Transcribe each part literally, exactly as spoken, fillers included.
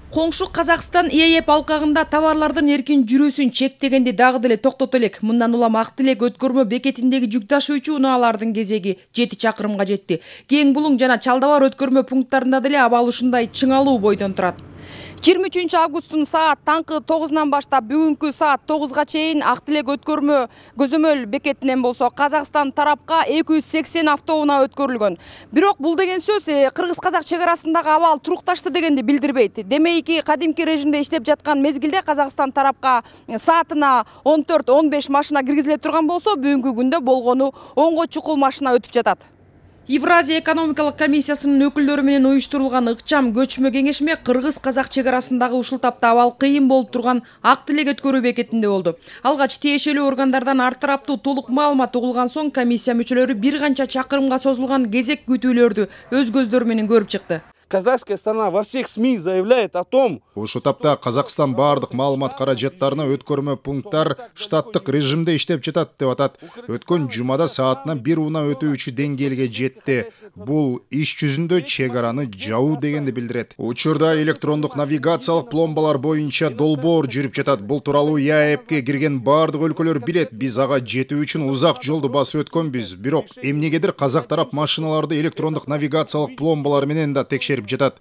Коңшу Казакстан ИЭП алкагында товарлардын эркин жүрүүсүн чектегенди дагы деле токтото элек. Мындан улам Ак Тилек өткөрмө бекетиндеги жүк ташуучу унаалардын кезеги жети чакырымга жетти. Кең Булуң жана Чалдабар өткөрмө пункттарында деле абал ушундай чыңалуу бойдон турат. жыйырма үчүнчү августтун саат таңкы тогузунан баштап бүгүнкү саат тогузга чейин Ак Тилек өткөрмө көзөмөл бекетинен болсо Казакстан тарапка эки жүз сексен автоунаа өткөрүлгөн. Бирок бул деген сөз кыргыз-казак чек арасындагы абал турукташты дегенди билдирбейт. Демейки, кадимки режимде иштеп жаткан мезгилде Казакстан тарапка саатына он төрт он беш машина киргизиле турган болсо, бүгүнкү күндө болгону онго чукул машина өтүп жатат. Евразия экономикалык комиссиясынын өкүлдөрү менен уюштурулган ыкчам көчмө кеңешме кыргыз-казак чек арасындагы ушул тапта абал кыйын болуп турган Ак Тилек өткөрүү бекетинде болду. Алгач тиешелүү органдардан ар тараптуу толук маалымат угулган соң комиссия мүчөлөрү бир канча чакырымга созулган кезек күтүүлөрдү өз көздөрү менен көрүп чыкты. Казахская сторона во всех СМИ заявляет о том, ушул тапта Казакстан бардык маалымат каражаттарына өткөрмө пункттар штаттык режимде иштеп жатат деп атат. Өткөн жумада саатына бир унаа өтүүчү деңгээлге жетти. Бул иш жүзүндө чек араны жабуу дегенди билдирет. Учурда электрондук навигациялык пломбалар боюнча долбоор жүрүп жатат. Бул тууралуу ИЭПке кирген бардык өлкөлөр билет. Биз ага жетүү үчүн узак жолду басып өткөнбүз. Бирок эмнегедир казак тарап машиналарды электрондук навигациялык пломбалар менен да текшерип жатат.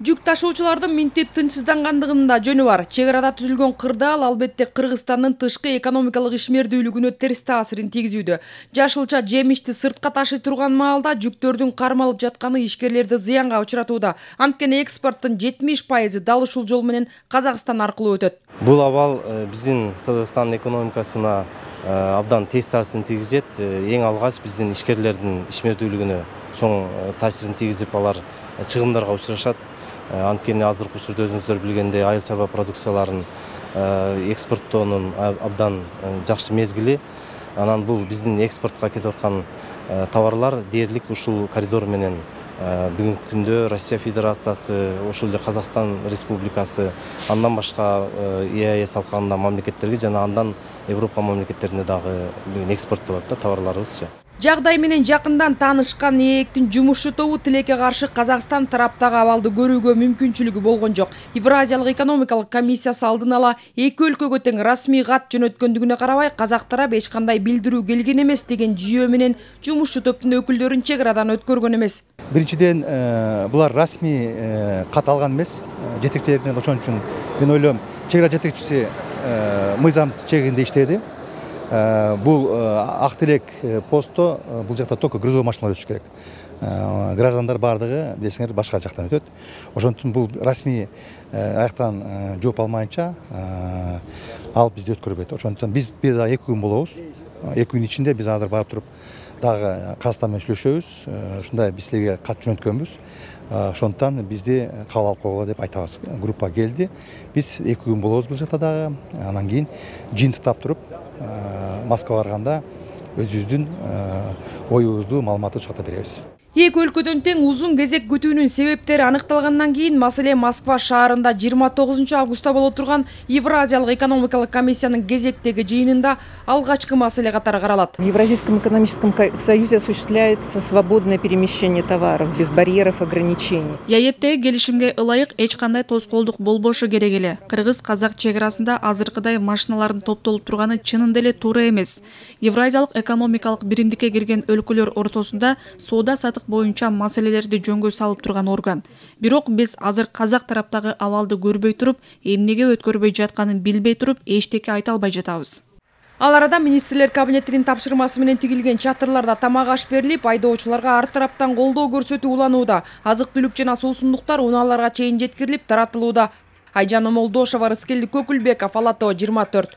Жүк ташуучулардын минтип тынчсыздангандыгынын да жөнү бар. Чек арада түзүлгөн кырдаал албетте Кыргызстандын тышкы экономикалык ишмердүүлүгүнө терс таасирин тийгизүүдө. Жашылча жемишти сыртка ташый турган маалда жүктөрдүн кармалып жатканы ишкерлерди зыянга учуратууда. Анткени экспорттун жетимиш пайызы дал ушул жол менен Казакстан аркылуу өтөт. Бул абал биздин Кыргызстан экономикасына абдан терс таасирин тийгизет. Эң алгач биздин ишкерлердин ишмердүүлүгүнө чоң таасирин тийгизип, алар чыгымдарга учурашат. Анткени азыркы учурда өзүңүздөр билгендей айыл чарба продукцияларын экспорттоонун абдан жакшы мезгили. Анан бул биздин экспортко кетип аткан товарлар дээрлик ушул коридор менен бүгүнкү күндө Россия Федерациясы, ошол эле Казакстан Республикасы, андан башка ЕАЭС алкагында мамлекеттерге жана андан Европа мамлекеттерине дагы экспорттолот да товарларыбызчы. Жагдай менен жакындан таанышкан ИЭПтин жумушчу тобу Тилекке каршы Казакстан тараптагы абалды көрүүгө мүмкүнчүлүгү болгон жок. Евразиялык экономикалык комиссиясы алдын ала эки өлкөгө тең расмий кат жөнөткөндүгүнө карабай, казак тарап эч кандай билдирүү келген эмес деген жүйө менен жумушчу топтун өкүлдөрүн чек арадан өткөргөн эмес. Биринчиден, булар расмий кат алган эмес жетекчилеринен, ошон үчүн мен ойлойм, чек ара жетекчиси мыйзам чегинде иштеди. Бул Ак Тилек посту, бул жакта только грузовой машиналар өтүш керек. Граждандар бардыгы билесиңер башка жактан өтөт. Ошондуктан бул расмий аяктан жооп алмайынча ал бизди өткөрбөйт. Ошондуктан биз бир да эки күн болобуз. эки күн ичинде биз азыр барып туруп дагы Казакстан менен сүйлөшөбүз. Ушундай биз силерге кат жөнөткөнбүз. Ошондуктан бизди кабыл алып койгула деп айтабыз. Группа келди. Биз эки күн болобуз бул жакта дагы. Анан кийин жыйынтыктап туруп Москвага барганда өзүбүздүн оюбузду, маалыматты ушакта беребиз. Эки өлкөдөн тең узун кезек күтүүнүн себептери аныкталгандан кийин маселе Москва шаарында жыйырма тогузунчу августта боло турган Евразиялык экономикалык комиссиянын кезектеги жыйынында алгачкы маселе катары каралат. В Евразийском экономическом союзе осуществляется свободное перемещение товаров без барьеров и ограничений. ИЭПтеги келишимге ылайык эч кандай тоскоолдук болбошу керек эле. Кыргыз-казак чек арасында азыркыдай машиналардын топтолуп турганы чынында эле туура эмес. Евразиялык экономикалык биримдикке кирген өлкөлөр ортосунда соода сатык боюнча маселелерди жөнгө салып турган орган. Бирок биз азыр казак тараптагы абалды көрбөй туруп, эмнеге өткөрбөй жатканын билбей туруп, эчтеке айта албай жатабыз. Ал арада министрлер кабинетинин тапшырмасы менен тигилген чатырларда тамак аш берилип, айдоочуларга ар тараптан колдоо көрсөтүү уланууда. Азык-түлүк жана суусундуктар унааларга чейин жеткирилип таратылууда. Айжан Омолдошова, Рыскелди Көкүлбеков, Ала Тоо жыйырма төрт.